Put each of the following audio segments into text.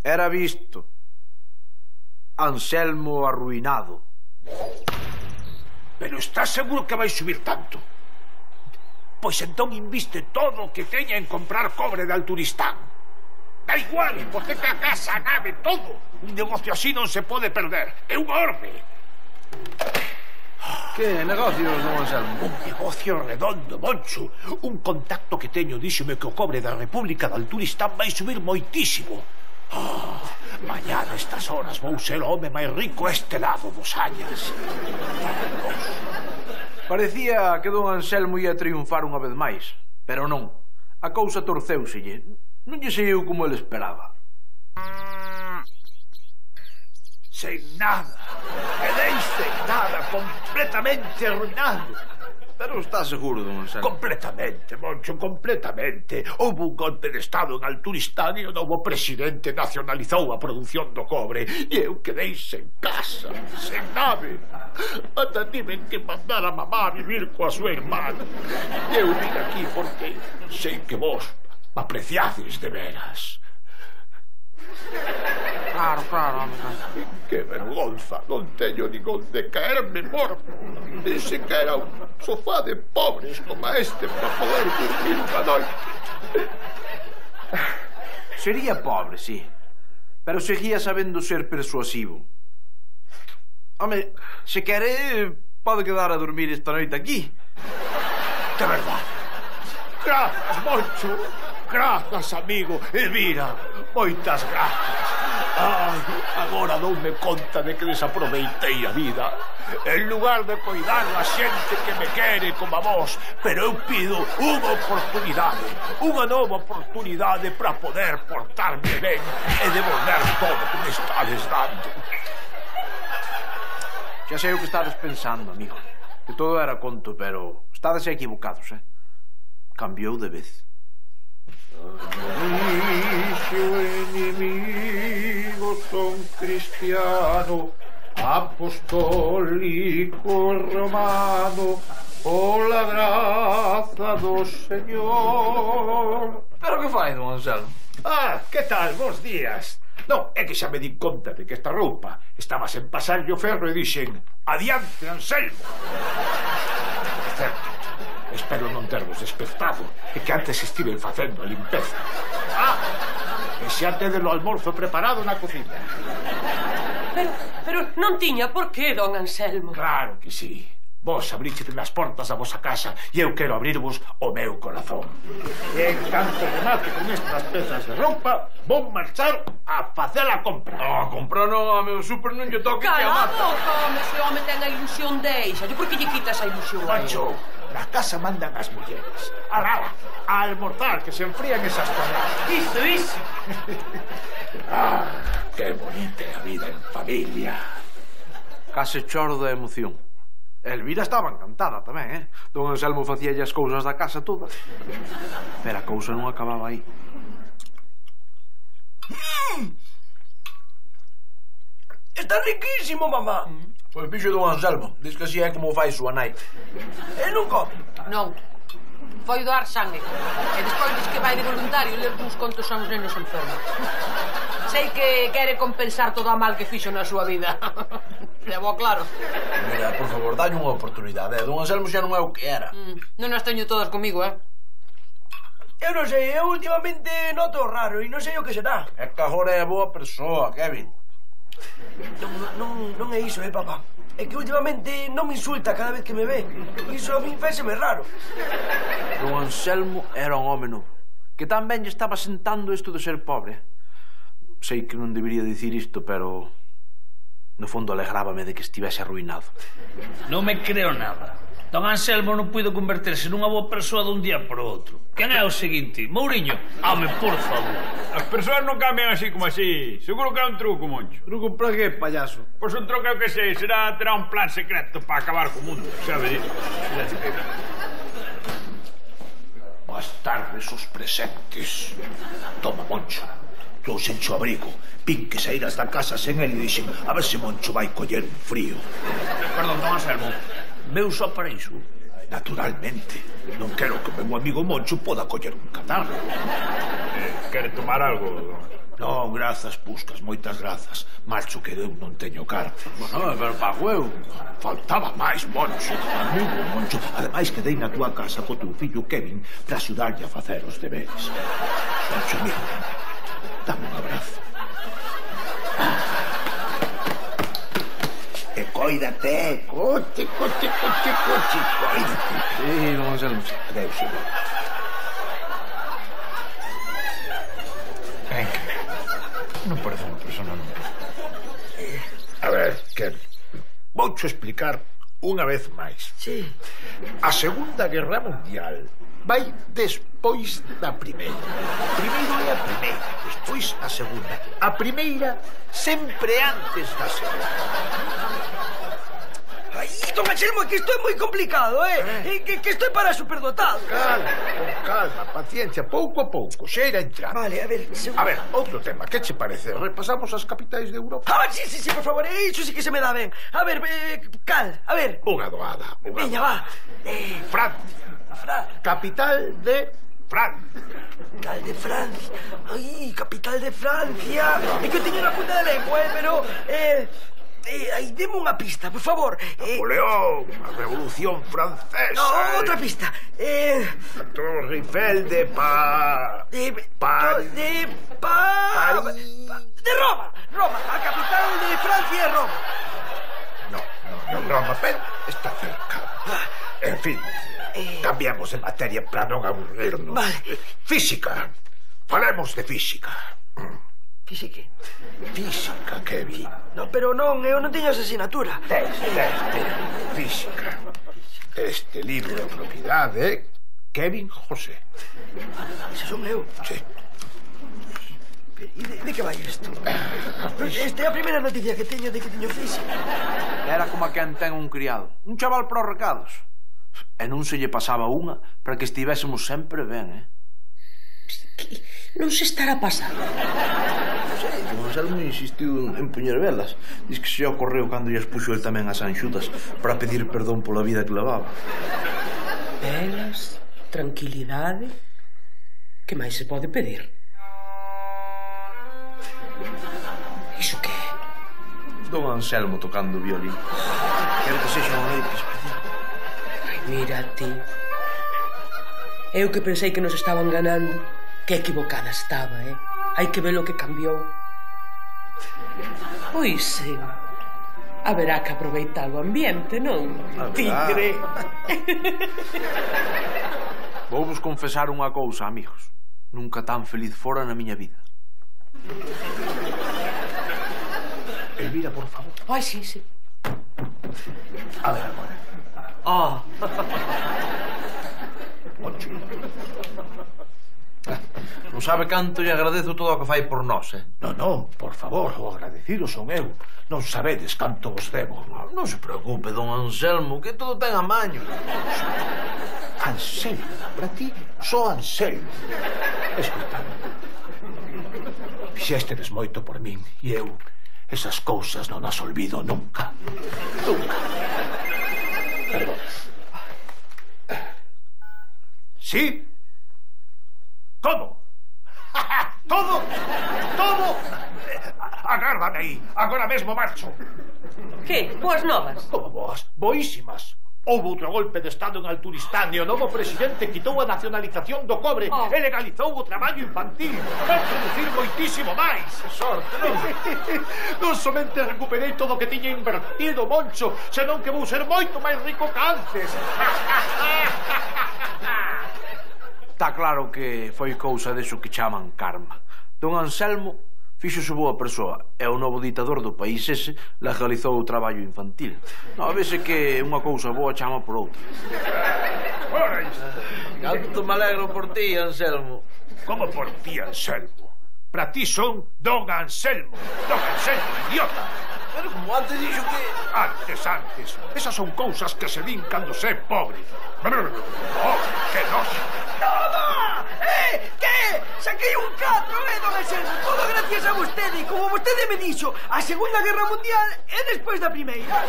Era visto. Anselmo arruinado. Pero estás seguro que vai subir tanto? Pois entón inviste todo o que teña en comprar cobre de Alturistán. Da igual, porque a casa, a nave, todo. Un negocio así non se pode perder. É unha orbe. Que negocios, don Anselmo? Un negocio redondo, Moncho. Un contacto que teño díxome que o cobre da República de Alturistán vai subir moitísimo. Mañá a estas horas vou ser o home máis rico a este lado dos Añas. Parecía que don Anselmo ia triunfar unha vez máis, pero non. A cousa torceuselle. Non lle saiu como ele esperaba. Sen nada. Quedei sen nada, completamente arruinado. Pero está seguro, don Anselmo? Completamente, Moncho, completamente. Houve un golpe de estado en Alturistán e o novo presidente nacionalizou a produción do cobre e eu quedei sen casa, sen nave. Ata tiven que mandar a mamá a vivir coa súa irmana. E eu vim aquí porque sei que vos apreciades de veras. Claro, Que vergonza, non teño nin onde caerme morto. Pensei que era un sofá de pobres como este para poder dormir unha noite. Sería pobre, sí, pero seguía sabendo ser persuasivo. Home, se quere, pode quedar a dormir esta noite aquí. De verdade. Grazas, Moncho. Grazas, amigo. E mira, moitas grazas. Ai, agora doume conta de que desaproveitei a vida. En lugar de coidar a xente que me quere como a vos, pero eu pido unha oportunidade, unha nova oportunidade para poder portarme ben e devolver todo que me estades dando. Xa sei o que estades pensando, amigo. Que todo era conto, pero estades equivocados, Cambiou de vez. Enemigo son cristiano, apostólico romano, pola graza do Señor. Pero que fai, don Anselmo? Que tal, bons días. Non, é que xa me di conta de que esta roupa estaba sen pasarlle o ferro e dixen: adiante, Anselmo. É certo. Espero non tervos despertado e que antes estiven facendo a limpeza. E xa tedes o almorzo preparado na cociña. Pero non tiña por qué, don Anselmo. Claro que sí. Vos abrichete nas portas da vosa casa e eu quero abrirvos o meu corazón. E en canto remate con estas pezas de roupa, vou marchar a facer a compra. A compra non, a meu super non lle toque que a Cala a mata. boca, home, se o home ten a ilusión deixa. Por que lle quitas a ilusión a Pancho, na casa mandan as mulleres. Ala, a almorzar, que se enfrían esas toneladas. Iso. Que bonita é a vida en familia. Case choro da emoción. Elvira estaba encantada tamén, Don Anselmo facíalle as cousas da casa todas. Pero a cousa non acababa aí. Está riquísimo, mamá. Pois fixo don Anselmo. Diz que así é como fai súa nai. E non come. Non. Foi doar sangue. E despois diz que vai de voluntario ler uns contos a uns nenos enfermos. Sei que quere compensar todo o mal que fixo na súa vida. Levo claro. Mira, por favor, dalle unha oportunidade. Don Anselmo xa non é o que era. Non as teño todas comigo, Eu non sei, eu últimamente noto raro e non sei o que será. É que agora é boa persoa, Kevin. Non é iso, papá. É que últimamente non me insulta cada vez que me ve. Iso a min féseme raro. Don Anselmo era un home novo, que tamén lle estaba sentando isto de ser pobre. Sei que non debería dicir isto, pero no fondo alegrábame de que estivese arruinado. Non me creo nada. Don Anselmo non puido converterse nunha boa persoa dun día por outro. Quen é o seguinte? Mouriño? Home, por favor. As persoas non cambian así como así. Seguro que é un truco, Moncho. Truco para que, payaso? Pois un truco que sei, terá un plan secreto para acabar co mundo, xa veréis. Boas tardes os presentes. Toma, Moncho. Trouxenche o abrigo. Vin que saíras da casa sen el e dixen a ver se Moncho vai coller un frío. Perdón, don Anselmo. Veu só para iso? Naturalmente. Non quero que o meu amigo Moncho poda coller un catarro. Quere tomar algo? Non, grazas, Puscas, moitas grazas. Marcho que eu non teño carta. Bueno, pero pago eu. Faltaba máis, Moncho. Amigo, Moncho. Ademais, quedei na túa casa co teu fillo Kevin para axudarlle a facer os deberes. Moncho, amigo, dame un abrazo. E coídate, coche, coídate. Sí, don Anselmo. Adeus, senhor. Venga, non parece unha persona nunca. A ver, Kevin, voucho explicar unha vez máis. Sí. A Segunda Guerra Mundial vai despois da primeira. Primeiro é a primeira, despois a segunda. A primeira sempre antes da segunda. Ay, don Anselmo, que isto é moi complicado, que estou para superdotado. Calma, con calma, paciencia, pouco a pouco, xa irá entrar. Vale, a ver, A ver, outro tema, que che parece? Repasamos as capitais de Europa? Sí, por favor, iso sí que se me dá ben. A ver, cal, a ver. Unha doada. Veña, va. Francia. Capital de Francia. Capital de Francia. Ay, capital de Francia. É que eu teño na punta da lengua, pero... Aí, deme unha pista, por favor. Napoleón, a Revolución Francesa. No, outra pista. A Torre Eiffel de De Roma. Roma, a capital de Francia é Roma. No, Roma, pero está cerca. En fin, cambiamos de materia para non aburrirnos. Vale. Física. Falemos de física. Física, Kevin. No, pero non, eu non teño esa asignatura. Física. Este libro de propiedade, Kevin José. Ese son eu. Sí. E de que vai isto? Esta é a primeira noticia que teño de que teño física. Era como a quen ten un criado. Un chaval para os recados. E non se lle pasaba unha para que estivésemos sempre ben, Que non se estará pasando. O Anselmo insistiu en poñer velas. Diz que se ocorreu cando lles puxo el tamén as anxutas para pedir perdón pola vida que levaba. Velas, tranquilidade. Que máis se pode pedir? Iso que é? Don Anselmo tocando o violín. Quero que sexa unha noite especial. Ai, mira ti. Eu que pensei que nos estaban ganando. Que equivocada estaba, Hai que ver o que cambiou. Pois sí. Haberá que aproveitar o ambiente, non? Tigre. Vou vos confesar unha cousa, amigos. Nunca tan feliz fora na miña vida. Elvira, por favor. Ai, sí. A ver agora. Moncho. Non sabe canto lle agradezo todo o que fai por nós, Non, por favor, o agradecido son eu. Non sabedes canto vos debo. Non se preocupe, don Anselmo, que todo ten a maño. Anselmo, para ti, só Anselmo. Escuta, fixéstedes moito por min e eu esas cousas non as olvido nunca. Perdón. Sí? Todo? Todo? Agárrame aí, agora mesmo marcho. Que? Boas novas? Como boas? Boísimas. Houve outro golpe de Estado en Alturistán e o novo presidente quitou a nacionalización do cobre e legalizou o traballo infantil. Vai producir moitísimo máis. Sorte, non? Non somente recuperei todo o que tiña invertido, Moncho, senón que vou ser moito máis rico que antes. Está claro que foi cousa deso que chaman karma. Don Anselmo fíxose boa persoa e o novo ditador do país ese legalizou o traballo infantil. Non, vese que unha cousa boa chama por outra. Ora isto. Canto me alegro por ti, Anselmo. Como por ti, Anselmo? Para ti son Don Anselmo. Don Anselmo, idiota. Pero como antes dixo que... Antes. Esas son cousas que se din cando se é pobre. Oh, que noxa. ¡Toma! ¿Qué? Saquei un 4, don Anselmo. Todo gracias a vostede. Como vostede me dixo, a Segunda Guerra Mundial é despois da primeira.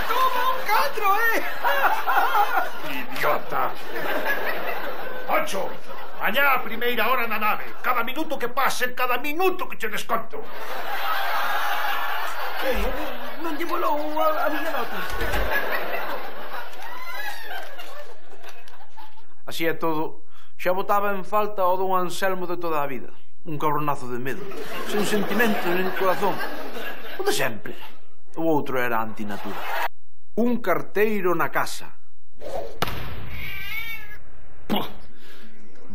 Toma un 4, Idiota. Pancho, Allá a primeira hora na nave. Cada minuto que pase, cada minuto que che desconto. Non lle volou a miña nota. Así é todo, xa botaba en falta o don Anselmo de toda a vida. Un cabronazo de medo, sen sentimento nin corazón. O de sempre. O outro era antinatura. Un carteiro na casa.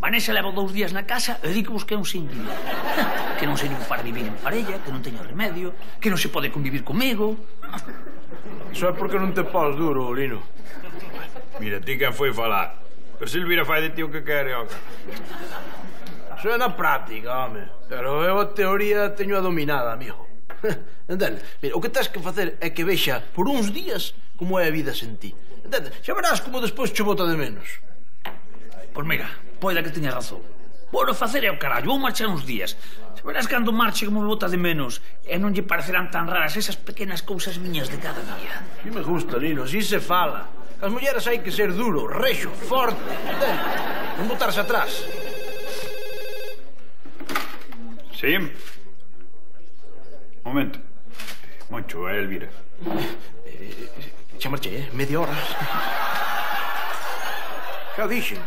Vanessa leva 2 días na casa e di que busquei un single. Que non sirvo para vivir en parella, que non teño remedio, que non se pode convivir comigo. Iso é porque non te pos duro, Lino. Mira, ti que foi falar. Pero Silvira fai de ti o que quere, oca. Iso é na práctica, home. Pero eu a teoría teño a dominada, amigo. Entende? Mira, o que tens que facer é que vexa por uns días como é a vida sen ti. Entende? Xa verás como despois che bota de menos. Pois mira, poida que teña razón. Bueno, facer é o carallo, vou marchar uns días. Se verás cando marche como me bota de menos e non lle parecerán tan raras esas pequenas cousas miñas de cada día. Si me gusta, Lino, si se fala. As mulleres hai que ser duro, rexo, forte, entende? Non botarse atrás. Sí? Momento. Moncho, é Elvira. Xa marchei, media hora. Xa dixen.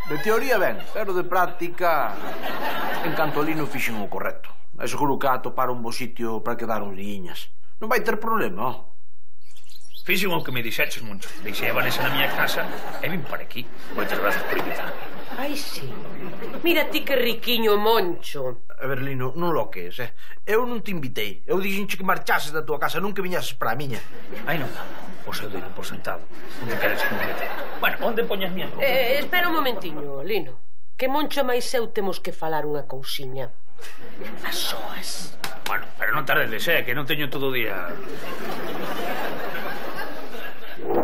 De teoría ben, pero de práctica en canto a Lino fixen o correcto. É seguro que a atopar un bo sitio para quedar uns diñas. Non vai ter problema, ó. Fixen o que me dixeches, Moncho. Deixei a Vanessa na miña casa e vim para aquí. Moitas gracias por invitarme. Ai, sí. Mira ti que riquiño, Moncho. A ver, Lino, non lo que es, Eu non te invitei. Eu dixenche que marchases da tua casa, non que viñases para a miña. Ai, non. Pois eu doino por sentado. Onde queres que me meta? Bueno, onde poñas miñas roupas? Espera un momentiño, Lino. Que Moncho máis eu temos que falar unha cousiña. A soas. Bueno, pero non tardes, que non teño todo o día.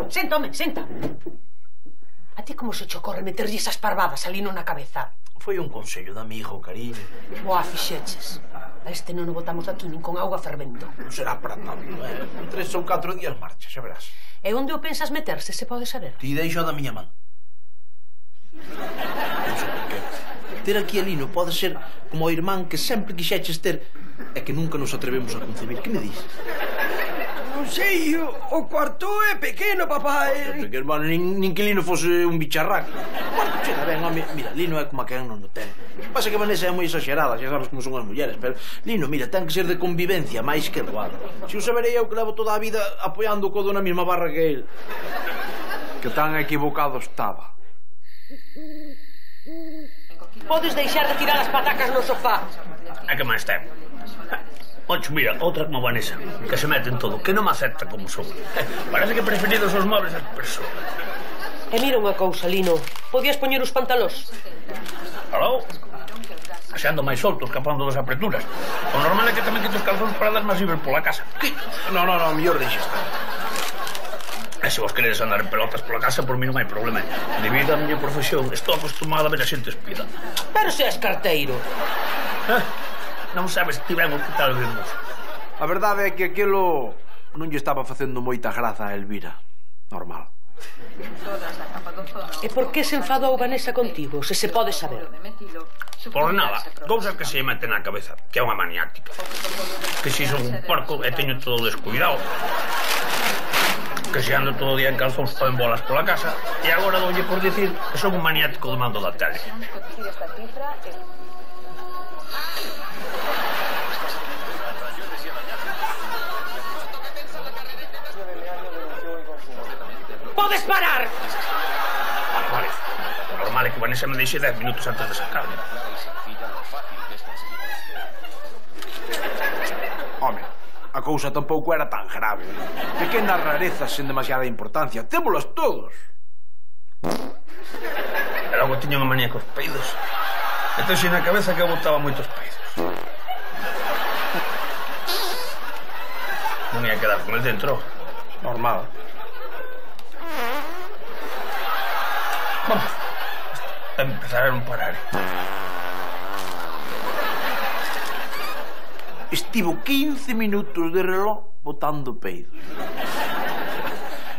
Senta, home, senta. A ti como se che ocorre meterlle esas parvadas a Lino na cabeza? Foi un consello de amigo, cariño. Boa, fixeches. A este non o botamos aquí nin con auga fervendo. Non será para tanto, 3 ou 4 días marcha, xa verás. E onde o pensas meterse, se pode saber? Ti deixo da miña man. Non sei por qué. Ter aquí a Lino pode ser como o irmán que sempre quixeches ter e que nunca nos atrevemos a concebir. Que me dis? Non sei, o cuarto é pequeno, papá. Porque, hermano, nin que Lino fose un bicharraco. O cuarto chega ben, home. Mira, Lino é como a quen non o ten. Pasa que Vanessa é moi exagerada, xa sabes como son as mulleres, pero Lino, mira, ten que ser de convivencia máis que doado. Se o saberei eu que levo toda a vida apoiando o codo na mesma barra que el. Que tan equivocado estaba. Podes deixar de tirar as patacas no sofá. A que máis ten? Moncho, mira, outra como Vanessa, que se mete en todo, que non me acepta como son. Parece que preferidos os móveis das persoas. E mira unha cousa, Lino. Podías poñer os pantalós? Aló? Aseando máis solto, escapando das apreturas. O normal é que tamén quito os calzóns para dar máis libre pola casa. No, mellor deixa estar. E se vos queredes andar en pelotas pola casa, por mí non hai problema. Debido á miña profesión, estou acostumado a ver a xente espida. Pero se és carteiro. Non sabes ti ben o que tal vemos. A verdade é que aquilo non lle estaba facendo moita graza a Elvira. Normal. E por que se enfadou Vanessa contigo, se se pode saber? Por nada, cousas que se meten na cabeza, que é unha maniática. Que si son un porco e teño todo descuidado. Que se ando todo o día en calzóns ou en bolas pola casa. E agora doulle por dicir que son un maniático do mando da tele. Podes parar! Vale. O normal é que Vanessa me deixe 10 minutos antes de sacarme. Home, a cousa tampouco era tan grave. Pequenas rarezas sen demasiada importancia. Témolas todos. E logo tiña unha manía cos peidos. Entón na cabeza que eu botaba moitos peidos. Non ia quedar con el dentro. Normal. Vamos, a empezar a non parar. Estivo 15 minutos de reloj botando peidos.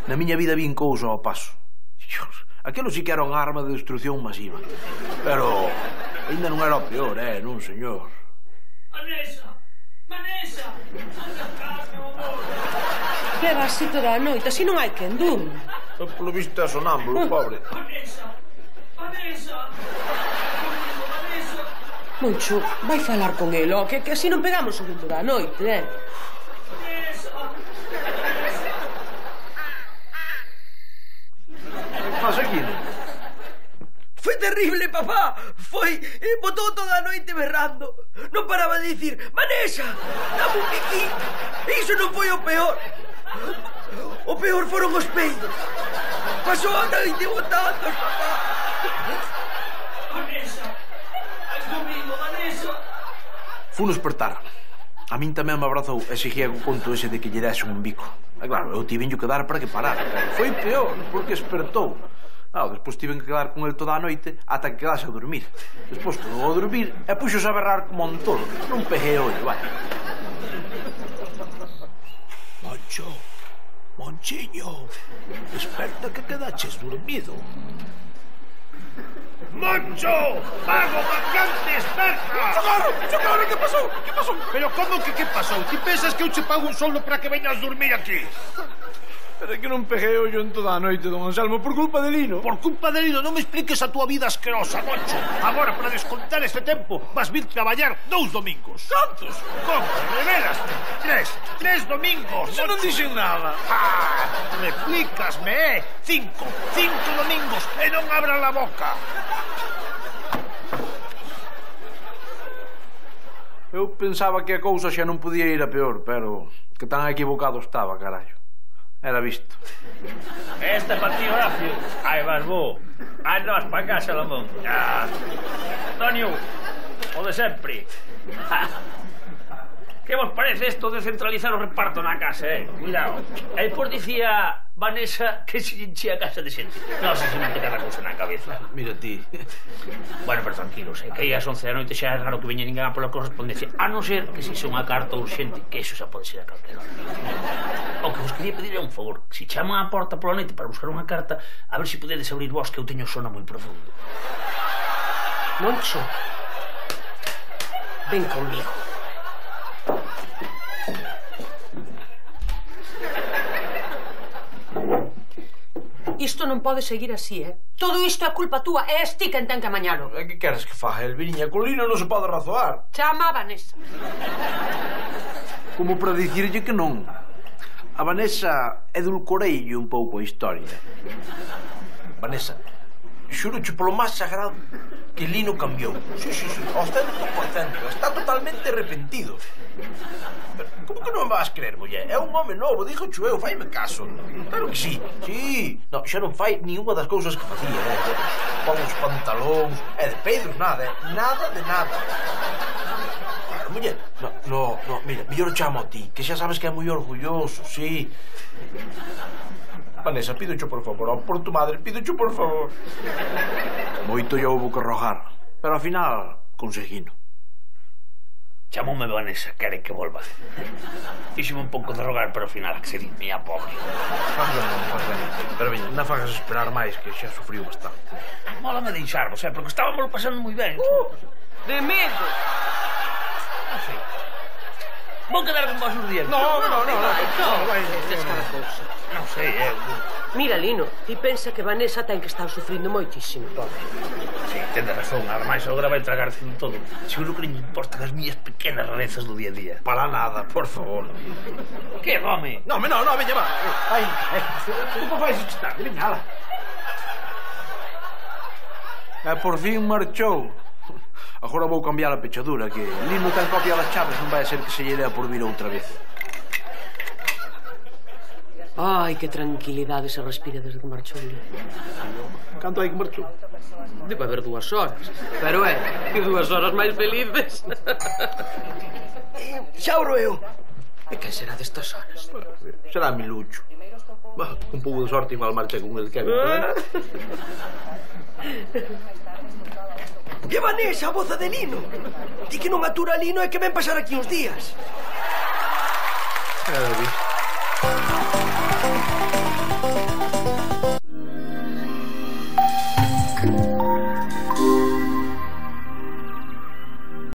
Na miña vida vin cousa ao paso. Dios, Aquilo sí que era unha arma de destrucción masiva. Pero ainda non era o peor, non, señor. Vanessa! Vanessa! Beba así toda a noite, así non hai quen durma. Polo visto é sonámbulo, pobre. Vanessa! Vanessa! Vanessa! Moncho, vai falar con el, que así non pegamos o ritmo da noite, Vanessa! Que pasa aquí? Foi terrible, papá. Botou toda a noite berrando. Non paraba de dicir: Vanessa, dame un piquín. Iso non foi o peor. O peor foron os peidos. Pasou a noite botando, papá. Vanessa! Vais comigo, Vanessa! Funo espertar. A min tamén me abrazou e seguía co conto ese de que lle dese un bico. E claro, eu tivenllo que dar para que parara. Foi peor, porque espertou. Despois tiven que quedar con el toda a noite ata que quedase a dormir. Despois quedou a dormir e puxos a berrar como un tolo. Non peguei ollo, vai. Moncho, Monchiño, desperta que quedaches dormido. Moncho! Vago, vacante, desperta! Socorro, que pasou? Que pasou? Pero como que pasou? Ti pensas que eu che pago un soldo para que veñas dormir aquí? Pero é que non peguei ollo en toda a noite, don Anselmo, por culpa de Lino. Por culpa de Lino, non me expliques a túa vida asquerosa, Moncho. Agora, para descontar este tempo, vas vir traballar 2 domingos. Cantos? Como? Revelaste? 3 domingos, Se non dixen nada. Replícasme, 5 domingos e non abra a boca. Eu pensaba que a cousa xa non podía ir a peor, pero que tan equivocado estaba, carallo. Era visto. Esta é para ti, Horacio. Aí vas vos. Aí vas para casa, Lamón. Antonio, o de sempre. Que vos parece isto de centralizar o reparto na casa, Cuidado. E depois dicía Vanessa que se enchía a casa de xente. Non sei se mete cada cousa na cabeza. Mira ti. Bueno, pero tranquilos, que aí as 11 da noite xa é raro que veña ninguén a pola correspondencia, a non ser que se xa unha carta urxente, que iso xa pode ser a calquera hora. O que vos quería pedir é un favor. Se chaman á porta pola noite para buscar unha carta, a ver se podedes abrir vos, que eu teño sono moi profundo. Moncho, ven conmigo. Isto non pode seguir así, Todo isto é culpa túa, e es ti quen ten que amañalo. Que queres que faga, Elviriña? Con Lino non se pode razoar. Chama a Vanessa. Como para dicirlle que non. A Vanessa edulcoreille un pouco a historia. Vanessa, xuroche polo máis sagrado que Lino cambiou. Sí, ao 100%. Está totalmente arrepentido. Como que non me vas creer, muller? É un home novo, digo eu, faime caso. Claro que sí. Sí. Non, xa non fai ni unha das cousas que facía, Pon os pantalóns, de peidos nada, Nada de nada. Claro, muller. No, mira, mellor chamo a ti, que xa sabes que é moi orgulloso, sí. Vanessa, pídocho por favor, por tu madre, pídocho por favor. Moito ya houbo que rogar, pero ao final conseguino. Chamoume Vanessa, quere que volva. Fíxome un pouco de rogar, pero ao final accedí, mía pobre. Faz ben. Pero veña, non fagas esperar máis, que xa sufriu bastante. Mola me deixarvos, porque estábamos pasando moi ben. De medo. Non sei. Vou quedar con vos uns días. No. Tes cada cousa. Non sei, Mira, Lino, ti pensa que Vanessa ten que estar sufrindo moitísimo, pobre. Sí, tende razón, ademais agora vai tragarse en todo. Seguro que non lle importan as miñas pequenas rarezas do día a día. Para nada, por favor. Que, home? No, veña, va. Ai, como vais estar? Veña, ala. Por fin marchou. Agora vou cambiar a pechadura, que Lino ten copia das chaves, non vai a ser que se lle dea por vir outra vez. Ai, que tranquilidade se respira desde que marchou Lino. Canto hai que marchou? Debe haber 2 horas. Pero que 2 horas máis felices. Xa oro eu. E que será destas horas? Será mi Lucho. Un pouco de sorte igual marcha con el que Que Vanessa, a voza de Lino. Di que non atura Lino e que ven pasar aquí uns días. Visto.